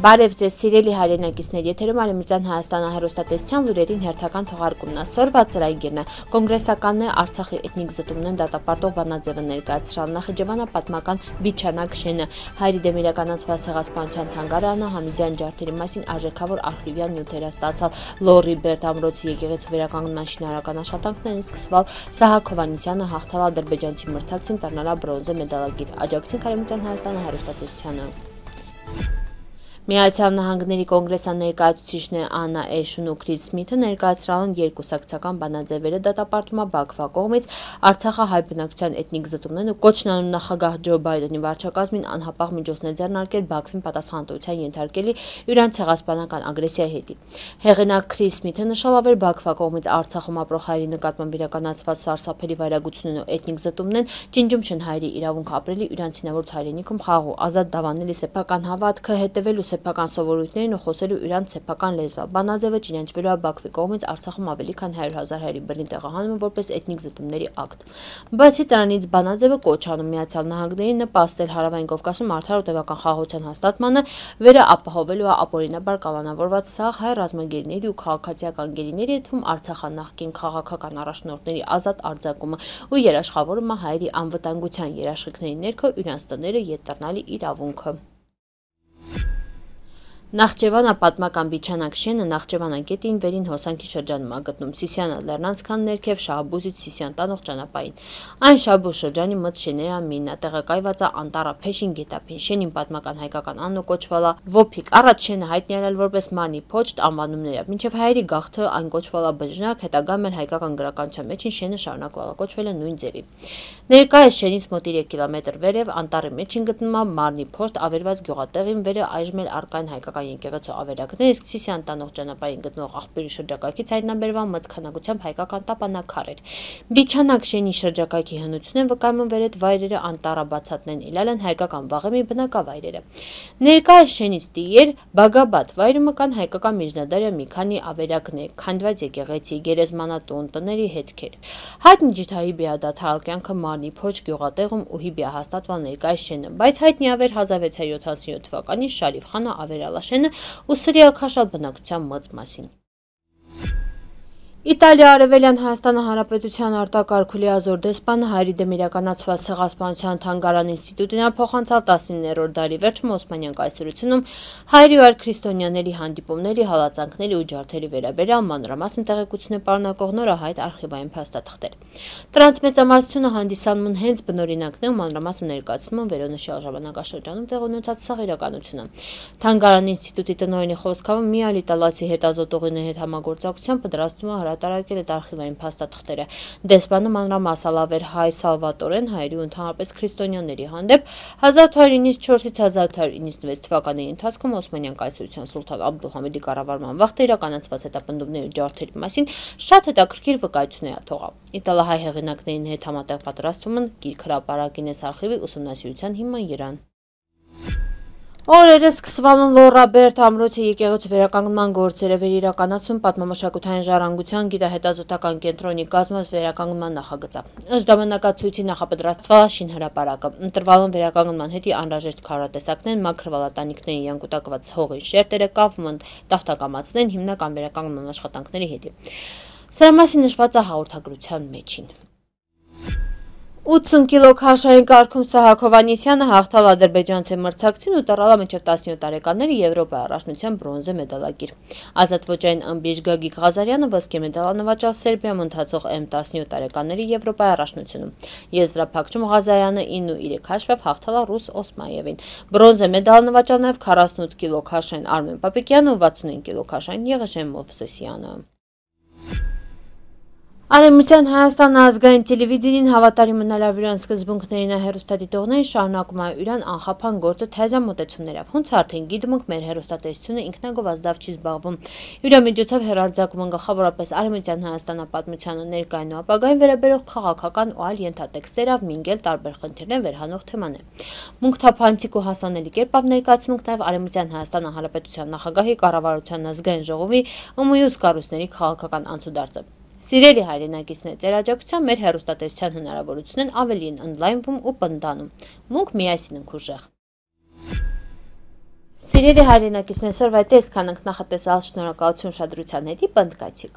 Բարև ձեզ սիրելի հայրենակիցներ, եթերում Արևմտյան Հայաստանը հեռուստատեսության լուրերին հերթական թողարկումն է։ Սորված ծրագիրն է։ Կոնգրեսականն է Արցախի էթնիկ զտումներն դատապարտող բանաձևը ներկայացրալ Նախիջևանապատմական Բիչանակ շենը, հայերի դեմ իրականացված ցեղասպանության թանգարանը, Համիդյան ջարդերի մասին արժեքավոր արխիվյան նյութեր ստացալ, Լոռի Բերդ ամրոցի եկեղեցու վերականգնման շինարարական աշխատանքներին սկսվել, Սահակ Հովհաննիսյանը հաղթալ ադրբեջանցի մրցակցին տառնալա բրոնզե մեդալագիր։ Աջակցենք Արևմտյան Հայաստանը հեռուստատեսությանը։ Միացյալ Նահանգների կոնգրեսի ներկայացուցիչն Աննա Էշուն ու Քրիս Սմիթը ներկայացրել են երկուսակցական բանաձևերը դատապարտումը Բաքվա կողմից Արցախի հայ բնակչության էթնիկ զտումներն ու կոչնանուն նախագահ Ջո Բայդենի վարչակազմին անհապաղ միջոցներ ձեռնարկել Բաքվին պատասխանատվության ենթարկելի իրանց ցեղասպանական ագրեսիայի հետ։ Հեղինակ Քրիս Սմիթը նշելով էր Բաքվա կողմից Արցախում ապրող հայերի նկատմամբ իրականացված սարսափելի վայրագությունն ու էթնիկ զտումներն ջնջում չեն հայերի իրավունք ապրելի իրանցինավոր հայրենիքում խաղաղ ու ազատ դավանելի սեփական հավատքը հետևելու սեփական սովորույթներին ու խոսելու իրանց սեփական լեզվով։ Բանաձևը ճանաչվելու է Բաքվի կողմից Արցախում ավելի քան 100,000 հայերի բռնի տեղահանումը որպես էթնիկ զտումների ակտ։ Բացի դրանից բանաձևը կոչ անում Միացյալ Նահանգներին նպաստել Հարավային Կովկասում արդար ու տևական խաղաղության հաստատմանը, վերապահովելու ապօրինաբար կանոնավորված սաղ հայ ռազմագերիների ու քաղաքացիական գերիների թվում Արցախի նախկին քաղաքական առաջնորդների ազատ արձակումը ու երաշխավորումը հայերի անվտանգության երաշխիքների ներքո իրանց տները ետ դառնալի իրավունքը։ Նախճեվանապատմական Բիչանակ շենը Նախճեվանագետին վերին հոսանքի շրջանում է գտնում Սիսիանա լեռնանցքան ներքև Շահբուզից Սիսիան տանող ճանապարհին։ Այն Շահբուզ շրջանի մոտ շեներամինն է, տեղակայված է Անտառա Փեշին գետափին։ Շենին պատմական հայկական անունը կոչվել է Ոփիկ։ Առաջ շենը հայտնի էր որպես Մարնի Փոչտ անվանումներով, մինչև հայերի գաղթը այն կոչվել է Բժնակ, հետագայում էլ հայկական գրականության մեջ շենը շարունակվել է կոչվել է նույն ձևի։ Ներկայիս շենից մոտ 3 կիլոմետր վերև Անտառի մեջին գտնվում է Մարնի Փոչտ ավերված գյուղատեղին, վերը այժմ էլ առկային հայկական եկեղեցու ավերակներ, իսկ Սիսիան տանող ճանապարհին գտնվող աղբյուրի շրջակայքից հայտնաբերվան մեծ քանակությամբ հայկական տապանակարեր։ Բիչանակ շենի շրջակայքի հնությունն վկայում վեր այդ վայրերը անտառաբացատներն իլալ են հայկական վաղեմի բնակավայրերը։ Ներկայիս շենից տիեր Բագաբադ վայրում կան հայկական միջնադարյա մի քանի ավերակներ, քանդված եկեղեցի, գերեզմանատուն, տների հետքեր։ Հայտնի ջիթայի բիադաթարալ կյանքը Մարնի Փոչ գյուղատեղում ու հիբիա հաստատվալ ներկայիս շենը, բայց հայտնի ավեր 1677 թվականին Շարիֆ խանը ավերալ շենը ու սրիակաշատ բնակչության մեծ մասին։ Իտալիա Արևելյան Հայաստանի Հանրապետության արտակարգ լիազոր դեսպանը հայերի դեմ իրականացված ցեղասպանության թանգարան ինստիտուտին փոխանցալ 19-րդ դարի վերջում Օսմանյան կայսրությունում հայերի ու քրիստոնյաների հանդիպումների, հալածանքների ու ջարդերի վերաբերյալ մանրամասն տեղեկություններ պարունակող նորահայտ արխիվային փաստաթղթեր։ Դրանց մեծամասնությունը հանդիսանում են հենց բնօրինակներ ու մանրամասն ներկայացնում վերոնշյալ ժամանակաշրջանում տեղ ունեցած սաղ իրականությունը։ Թանգարան ինստիտուտի տնօրենի խոսքով միալ իտալացի հետազոտողների հետ համագործակցությամբ պատրաստվում է տարակել այդ արխիվային փաստաթղթերը։ Դեսպանը մանրամասնալավ էր հայ Սալվատորեն հայերի ու ընդհանրապես քրիստոնյաների հանդեպ 1894-ից 1896 թվականների ընթացքում Օսմանյան կայսրության սուլթան Աբդուլհամիդի կառավարման վաղ իրականացված հետապնդումների ու ջարդերի մասին շատ հետաքրքիր վկայություններ թողավ։ Իտալահայ հեղինակների հետ համատեղ պատրաստվում են գիրք հրապարակին այս արխիվի ուսումնասիրության հիման երան։ Օրերս սկսվել են Լոռի Բերդ ամրոցի եկեղեցու վերականգնման գործերը վերիրականացում պատմամշակութային ժառանգության գիտահետազոտական կենտրոնի կազմած վերականգնման նախագծը։ Ըստ ժամանակացույցի նախապատրաստվել շինհրապարակը։ Ընտրվել են վերականգնման հետի անհրաժեշտ քարոզատեսակներ, մաքրվալատանիքների յանկուտակված հողի շերտերը, կապվում են տախտակամածներն հիմնական վերականգնման աշխատանքների հետ։ Սրա մասին նշված է հաղորդագրության մեջին։ 80 կիլո քաշային կարգում Սահակ Հովհաննիսյանը հաղթալ ադրբեջանցի մրցակցին ու տռալա մինչև 17 տարեկանների Եվրոպայի առաջնության բրոնզե մեդալագիր։ Ազատ ոճային ըմբիշ Գագիկ Ղազարյանը ոսկե մեդալ նվաճել Սերբիայում ընթացող M17 տարեկանների Եվրոպայի առաջնությունում։ Եզրափակում Ղազարյանը 9-3 հաշվով հաղթալ է ռուս Օսմաևին։ Բրոնզե մեդալ նվաճել նաև 48 կիլո քաշային Արմեն Պապիկյանը ու 65 կիլո քաշային Եղեշեն Մովսեսյանը։ Արևմտյան Հայաստան ազգային տելևիզիոնին հավատարիմ մնալով իրան սկզբունքներին հեռուստադիտողներին շարունակում է իրան անխափան գործը թեզան մոտեցումներով։ Հունց արդեն գիտում ենք մեր հեռուստատեսությունը ինքնագովազդավ չի զբաղվում։ Իրամիջոցով հեռարձակում են գլխավորապես Արևմտյան Հայաստանի պատմությանը ներկային ու ապագային վերաբերող քաղաքական ու այլ ենթատեքստերով մինգել տարբեր խնդիրներ վերհանող թեմաներ։ Մունքթափանցիկ ու հասանելի կերպով ներկայացնում ենք նաև Արևմտյան Հայաստանի Հանրապետության նախագահի կառավարության ազգային ժողովի ու մյուս կառույցների քաղաքական անցուդարձը։ Սիրելի հայրենակիցներ, ձեր աջակցությամբ մեր հեռուստատեսության հնարավորությունն ավելի են ընդլայնվում ու պնդանում։ Մունք միասին ենք ուժեղ։ Սիրելի հայրենակիցներ, այսօրվա այդ էսքան ենք նախատեսալ, շնորհակալություն ուշադրության հետի, պնդկայցիկ։